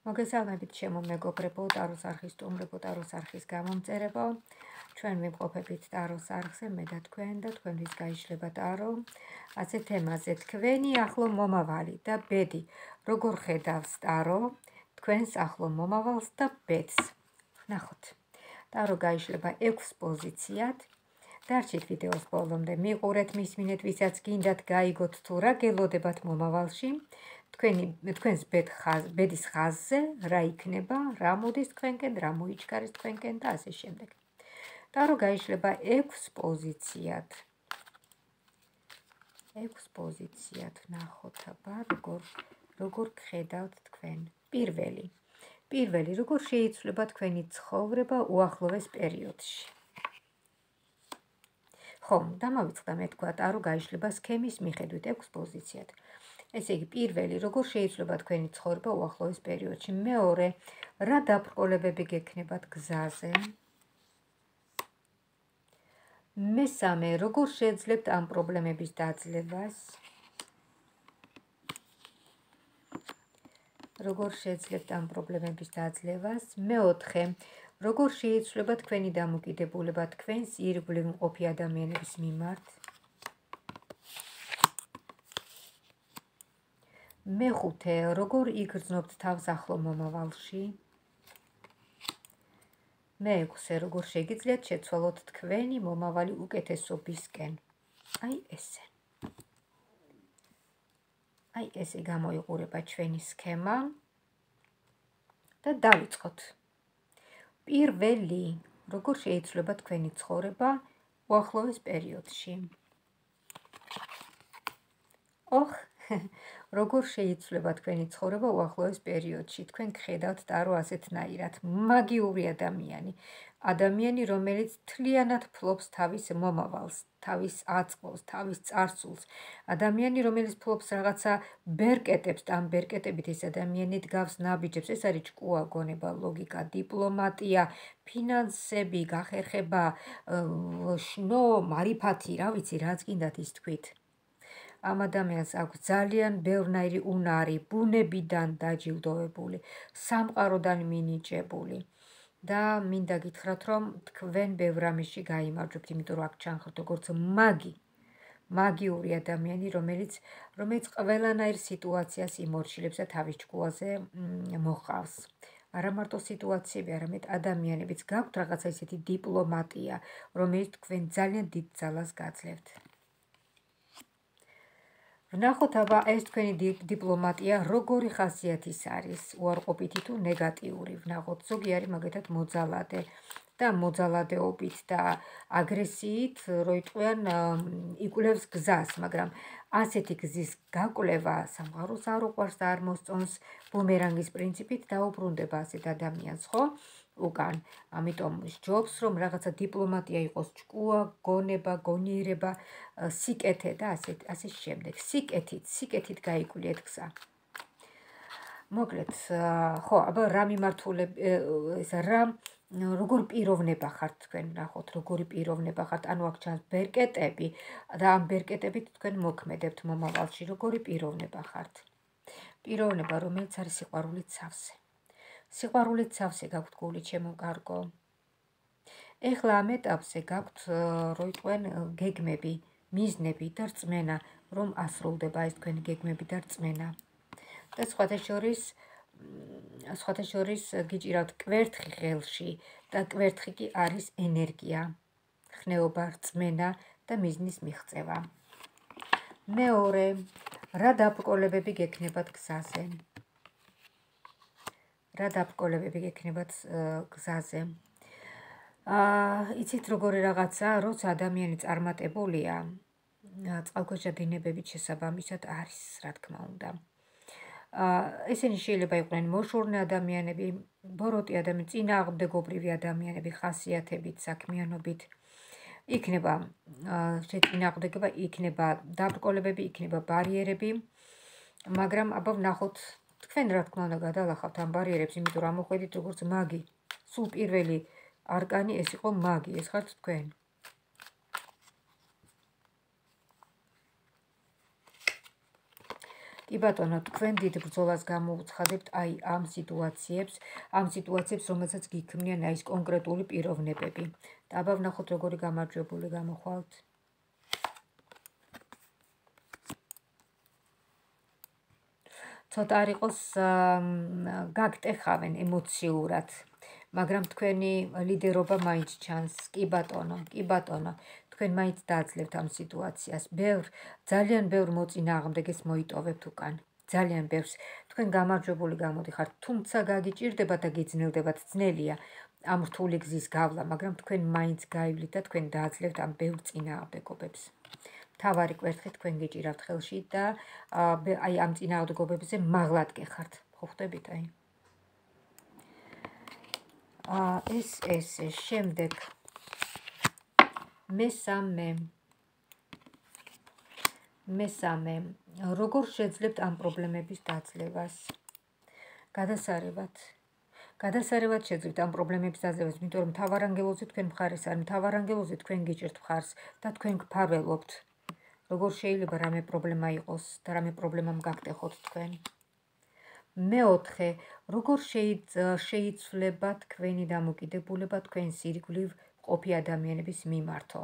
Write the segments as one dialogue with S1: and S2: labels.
S1: მოგესალმებით ჩემო მეგობრებო, ტაროს არხის სტუმრებო, ტაროს არხის გამომწერებო. ჩვენ ვიმყოფებით ტაროს არხზე, მე და თქვენთვის გაიშლება ტარო. ასე თემაზე თქვენი ახლო მომავალი და ბედი. როგორ ხედავს ტარო თქვენს ახლო მომავალს და ბედს? ნახოთ. ტარო გაიშლება 6 პოზიციად. დარჩით ვიდეოს ბოლომდე, მიყურეთ, მისმინეთ, ვისაც გინდათ გაიგოთ თუ რა გელოდებათ მომავალში. თქვენს ბედის ხაზზე რა იქნება, რა მოდის თქვენკენ, რა მოიჩქარის თქვენკენ და ასე შემდეგ. ტარო გაიშლება 6 პოზიციად. 6 პოზიციად ნახოთ აბა, როგორ გხედავთ თქვენ. პირველი, როგორ შეიცვლება თქვენი ცხოვრება უახლოეს პერიოდში. ხომ, დამავიწყდა მე თქვა, ტარო გაიშლება სქემის მიხედვით 6 პოზიციად. ესე იგი, პირველი, როგორ შეიცვლება თქვენი ცხოვრება უახლოეს პერიოდში. მეორე, რა დაბრკოლებები გექნებათ გზაზე. მესამე, როგორ შეძლებთ ამ პრობლემების დაძლევას. მეოთხე, როგორ შეიცვლება თქვენი დამოკიდებულება თქვენს ირგვლივ მყოფი ადამიანების მიმართ. მეხუთე, როგორ იგრძნობთ თავს ახლო მომავალში. მეექვსე, როგორ შეგიძლიათ შეცვალოთ თქვენი მომავალი უკეთესობისკენ. ესე გამოიყურება ჩვენი სქემა და დავიწყოთ. პირველი, როგორ შეიცვლება თქვენი ცხოვრება უახლოეს პერიოდში. როგორ შეიცვლება თქვენი ცხოვრება უახლოეს პერიოდში. თქვენ გხედავთ ტარო ასეთნაირად. მაგიური ადამიანი, რომელიც მთლიანად ფლობს თავის მომავალს, თავის აწმყოს, თავის წარსულს. ადამიანი, რომელიც ფლობს რაღაცა ბერკეტებს, და ამ ბერკეტებით ეს ადამიანი დგავს ნაბიჯებს. ეს არის ჭკუა, გონება, ლოგიკა, დიპლომატია, ფინანსები, გახერხება, შნო, მარიფათი, რა ვიცი, რაც გინდათ ის თქვით. ამ ადამიანს აქვს ძალიან ბევრნაირი უნარი, ბუნებიდან დაჯილდოვებული, სამყაროდან მინიჭებული და მინდა გითხრათ, რომ თქვენ ბევრ რამეში გაიმარჯვებთ, იმიტომ რომ აქ ჩანხართ როგორც მაგიური ადამიანი, რომელიც ყველანაირ სიტუაციას იმორჩილებს და თავის ჭკუაზე მოყავს. არა მარტო სიტუაციები, არამედ ადამიანებიც. გაქვთ რაღაცა ისეთი დიპლომატია, რომელიც თქვენ ძალიან დიდ ძალას გაძლევთ. ვნახოთ აბა ეს თქვენი დიპლომატია როგორი ხასიათის არის, უარყოფითი თუ ნეგატიური. ვნახოთ, ზოგი არის მაგათად მოძალადე და მოძალადეობით და აგრესიით, რო იტყვიან, იკვლევს გზას, მაგრამ ასეთი გზის გაკვლევა სამყაროს არ უყვარს და არ მოსწონს. ბუმერანგის პრინციპით დაუბრუნდება ასეთ ადამიანს, ხო? უკან. ამიტომ სჯობს, რომ რაღაცა დიპლომატია იყოს, ჭკუა, გონება, გონიერება, სიკეთე და ასე შემდეგ. სიკეთით გაიკვლიეთ გზა. მოკლედ, ხო, აბა რა როგორ პიროვნება ხართ თქვენ, ნახოთ, როგორი პიროვნება ხართ, ანუ აქ ჩანს ბერკეტები და ამ ბერკეტებით თქვენ მოქმედებთ მომავალში, როგორი პიროვნება ხართ. პიროვნება, რომელიც არის სიყვარულით სავსე. სიყვარულით სავსე გაქვთ გული, ჩემო კარგო. ეხლა ამ ეტაპზე გაქვთ, რო იტყვენ, გეგმები, მიზნები და რწმენა, რომ ასრულდება ეს თქვენი გეგმები და რწმენა. და სხვათა შორის გიჭირავთ კვერთხი ხელში და კვერთხი კი არის ენერგია, ხნეობა, რწმენა და მიზნის მიღწევა. მეორე, რა დაბრკოლებები გექნებათ გზაზე. იცით როგორი რაღაცა, როცა ადამიანი წარმატებულია, წყალქვეშა დინებებით შესაბამისად არის, რა თქმა უნდა. ესენი შეიძლება იყვნენ მოშორნე ადამიანები, ბოროტი ადამიანები, წინააღმდეგობრივი ადამიანები, ხასიათებით, საქმიანობით. იქნება შეწინააღმდეგება, იქნება დაბრკოლებები, იქნება ბარიერები, მაგრამ აბა ვნახოთ, თქვენ რა თქმა უნდა გადალახავთ ამ ბარიერებს, იმიტომ რომ მოხვედით როგორც მაგი. სულ პირველი არკანი ეს იყო მაგი, ეს ხართ თქვენ. კი ბატონო, თქვენ დიდ ბრძოლას გამოუცხადებთ აი ამ სიტუაციებს, რომელსაც გიქმნიან აი ეს კონკრეტული პიროვნებები. დაბა ვნახოთ როგორი გამარჯვებული გამოხვალთ. ცოტა არ იყოს გაგტეხავენ ემოციურად, მაგრამ თქვენი ლიდერობა მაინც ჩანს. კი ბატონო, კი ბატონო. თქვენ მაინც დააძლევთ ამ სიტუაციას. ძალიან ბევრ მოწინააღმდეგეს მოიტოვებთ უკან. ძალიან ბევრს. თქვენ გამარჯვებული გამოდიხართ, თუმცა გაგიჭირდება და გიძნელდებათ, ძნელია ამ რთული გზის გავლა, მაგრამ თქვენ მაინც გაივლით და თქვენ დააძლევთ ამ ბევრ წინააღმდეგობებს. თავარი კვერთხი თქვენ გიჭირავთ ხელში და აი ამ წინააღმდეგობებზე მაღლად გეხართ. ხო ხვდებით აი? ეს შემდეგ მესამე როგორ შეძლებთ ამ პრობლემების დაძლევას? გადასარევად შეძლებთ ამ პრობლემების დაძლევას, იმიტომ რომ მთავარანგელოზე თქვენ მხარეს არ, მთავარანგელოზე თქვენ გიჭერთ მხარს და თქვენ გფარველობთ. როგორ შეიძლება რამე პრობლემა იყოს და რამე პრობლემამ გაგტეხოთ თქვენ. მეოთხე, როგორ შეიცვლება თქვენი დამოკიდებულება თქვენს ირგვლივ ყოფი ადამიანების მიმართო?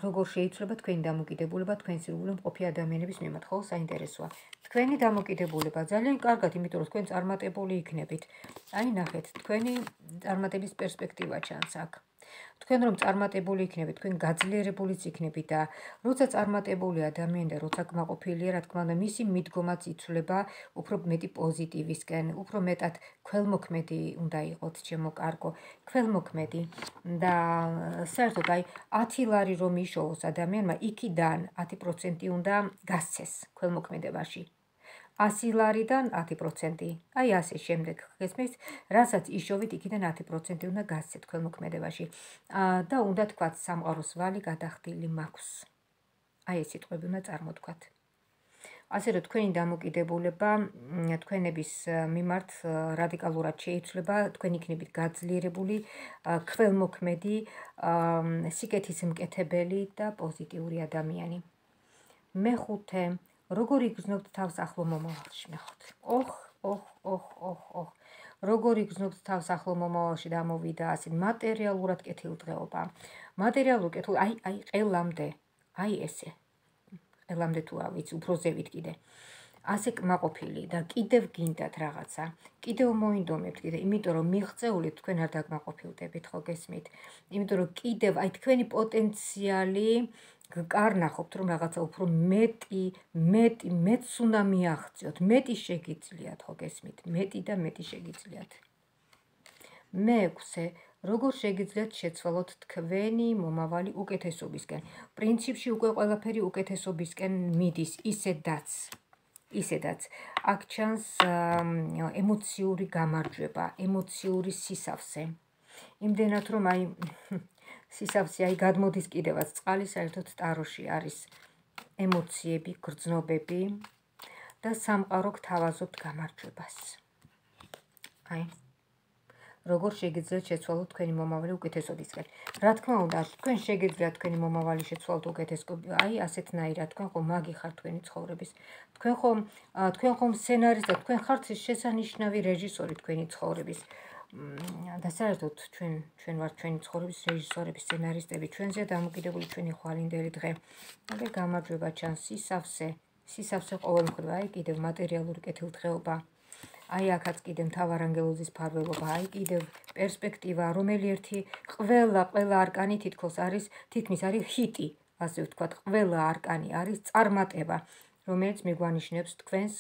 S1: როგორ შეიცვლება თქვენი დამოკიდებულება თქვენს ირგვლივ ყოფი ადამიანების მიმართ? ხო, საინტერესოა. თქვენი დამოკიდებულება ძალიან კარგად, იმიტომ რომ თქვენ წარმატებული იქნებით. აი ნახეთ, თქვენი წარმატების პერსპექტივა ჩანს აქ. თქვენ რომ წარმატებული იქნებით, თქვენ გაძლიერებულიც იქნებით და როცა წარმატებული ადამიანი და როცა კმაყოფილია, რა თქმა უნდა, მისი მიდგომაც იცვლება უფრო მეტი პოზიტივისკენ, უფრო მეტად ქველმოქმედი უნდა იყოთ, ჩემო კარგო, ქველმოქმედი და საერთოდ აი 10 ლარი რომ იშოვოს ადამიანმა, იქიდან 10% უნდა გასცეს ქველმოქმედებაში. 100 ლარიდან 10%. აი ასე შემდეგ გესმის, რასაც იშოვით, იქიდან 10% უნდა გასცეთ ქველმოქმედებაში. და უნდა თქვათ სამყაროს ვალი გადახდილი მაქვს. აი ეს სიტყვები უნდა წარმოთქვათ. ასე რომ თქვენი დამოკიდებულება თქვენების მიმართ რადიკალურად შეიცვლება, თქვენ იქნებით გაძლიერებული, ქველმოქმედი, სიკეთისმკეთებელი და პოზიტიური ადამიანი. მეხუთე, როგორ იგრძნობთ თავს ახლო მომავალში? ნახოთ. როგორ იგრძნობთ თავს ახლო მომავალში და ამოვიდა ასე მატერიალურად კეთილდღეობა. მატერიალურ კეთილ აი ყელამდე. აი ესე. ყელამდე თუ არ ვიცი, უფრო ზევით კიდე. ასე კმაყოფილი და კიდევ გინდათ რაღაცა. კიდევ მოინდომებთ კიდე, იმიტომ რომ მიღწეულით თქვენ არ დაკმაყოფილდებით, ხო გესმით? იმიტომ რომ კიდევ აი თქვენი პოტენციალი გკარნახობთ, რომ რაღაცა უფრო მეტს უნდა მიაღწიოთ, მეტი შეგიძლიათ, ხო გესმით? მეტი და მეტი შეგიძლიათ. მეექვსე, როგორ შეგიძლიათ შეცვალოთ თქვენი მომავალი უკეთესობისკენ? პრინციპში უკვე ყველაფერი უკეთესობისკენ მიდის, ისედაც. აქ ჩანს ემოციური გამარჯვება, ემოციური სისავსე. იმდენად რომ აი სისავსე აი გადმოდის კიდევაც წყალი, საერთოდ ტაროში არის ემოციები, გრძნობები და სამყარო გთავაზობთ გამარჯვებას. აი როგორ შეგიძლიათ შეცვალოთ თქვენი მომავალი უკეთესობისკენ? რა თქმა უნდა, თქვენ შეგიძლიათ თქვენი მომავალი შეცვალოთ უკეთესობისკენ, აი ასეთნაირად, თქვენ ხომ მაგი ხართ თქვენი ცხოვრების. თქვენ ხომ სცენარისტი და თქვენ ხართ შესანიშნავი რეჟისორი თქვენი ცხოვრების. და საერთოდ ჩვენ ვართ ჩვენი ცხოვრების რეჟისორები, სცენარისტები, ჩვენზეა დამოკიდებული ჩვენი ხვალინდელი დღე. აგერ გამარჯვება ჩანს, სისავსე ყოველ მხრივ, აი კიდევ მატერიალური კეთილდღეობა. აი აქაც კიდევ მთავარანგელოზის ფარველობა, აი კიდევ პერსპექტივა, რომელი ერთი ყველა არკანი თითქმის არის ჰიტი, ასე ვთქვათ, ყველა არკანი არის წარმატება, რომელიც მიგვანიშნებს თქვენს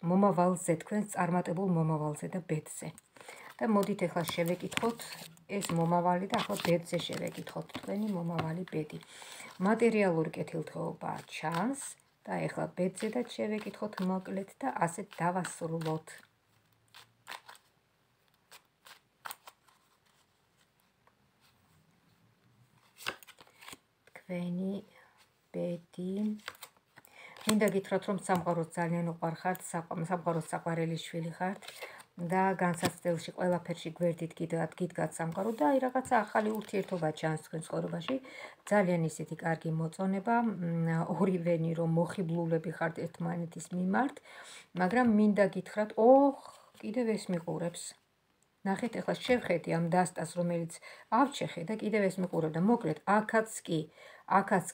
S1: მომავალზე, თქვენს წარმატებულ მომავალზე და ბედზე. და მოდით ახლა შევეკითხოთ ეს მომავალი და ახლა ბედზე შევეკითხოთ თქვენი მომავალი ბედი. მატერიალური კეთილდღეობა ჩანს და ახლა ბედზე და შევეკითხოთ მოკლედ და ასე დავასრულოთ. თქვენი ბედი. მინდა გითხრათ, რომ სამყაროს ძალიან უყვარხართ, სამყაროს საყვარელი შვილი ხართ. და განსაცდელში ყველაფერში გვერდით გიდგათ სამყარო და აი რაღაცა ახალი ურთიერთობა ჩანს თქვენ ცხოვრებაში. ძალიან ისეთი კარგი მოწონება, ორივენი რომ მოხიბლულები ხართ ერთმანეთის მიმართ, მაგრამ მინდა გითხრათ, კიდევ ეს მიყურებს. ნახეთ, ახლა შევხედი ამ დასტას, რომელიც ავჩეხე და კიდევ ეს მიყურებ და მოკლედ აქაც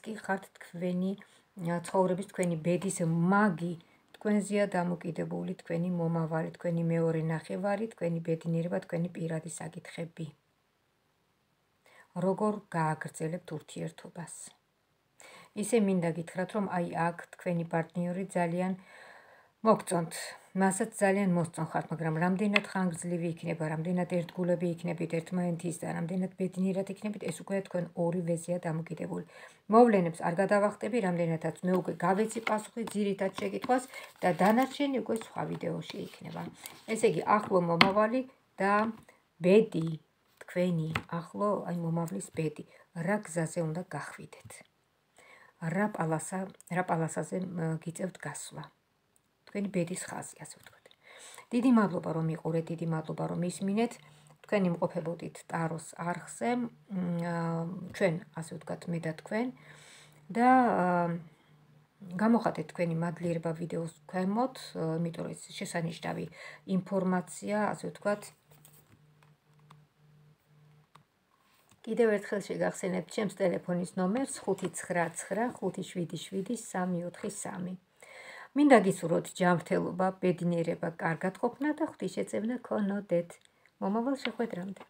S1: კი ხართ თქვენი ცხოვრების, თქვენი ბედის მაგი, თქვენზეა დამოკიდებული თქვენი მომავალი, თქვენი მეორე ნახევარი, თქვენი ბედნიერება, თქვენი პირადი საკითხები. როგორ გააგრძელებთ ურთიერთობას? ისე მინდა გითხრათ, რომ აი აქ თქვენი პარტნიორი ძალიან მოგწონთ, მასაც ძალიან მოსწონ ხართ, მაგრამ რამდენად ხანგრძლივი იქნება, რამდენად ერთგულები იქნებით ერთმანეთის და რამდენად ბედნიერად იქნებით, ეს უკვე თქვენ ორივეზეა დამოკიდებული. მოვლენებს არ გადავახტები, რამდენადაც მე უკვე გავეცი პასუხი ძირითად შეკითხვას და დანარჩენი უკვე სხვა ვიდეოში იქნება. ესე იგი, ახლო მომავალი და ბედი, თქვენი ახლო, აი მომავლის ბედი, რა გზაზე უნდა გახვიდეთ? რა პალასაზე გიწევთ გასვლა? თქვენი ბედის ხაზი, ასე ვთქვათ. დიდი მადლობა რომ იყურეთ, დიდი მადლობა რომ ისმინეთ. თქვენ იმყოფებოდით ტაროს არხზე, ჩვენ, ასე ვთქვათ, მე და თქვენ და გამოხატეთ თქვენი მადლიერება ვიდეოს ქვემოთ, იმიტომ რომ ეს შესანიშნავი ინფორმაცია, ასე ვთქვათ. კიდევ ერთხელ შეგახსენებთ ჩემს ტელეფონის ნომერს 599577343. მინდა გისურვოთ ჯანმრთელობა, ბედნიერება, კარგად ყოფნა და ღვთისმშეწევნა გქონოდეთ. მომავალ შეხვედრამდე.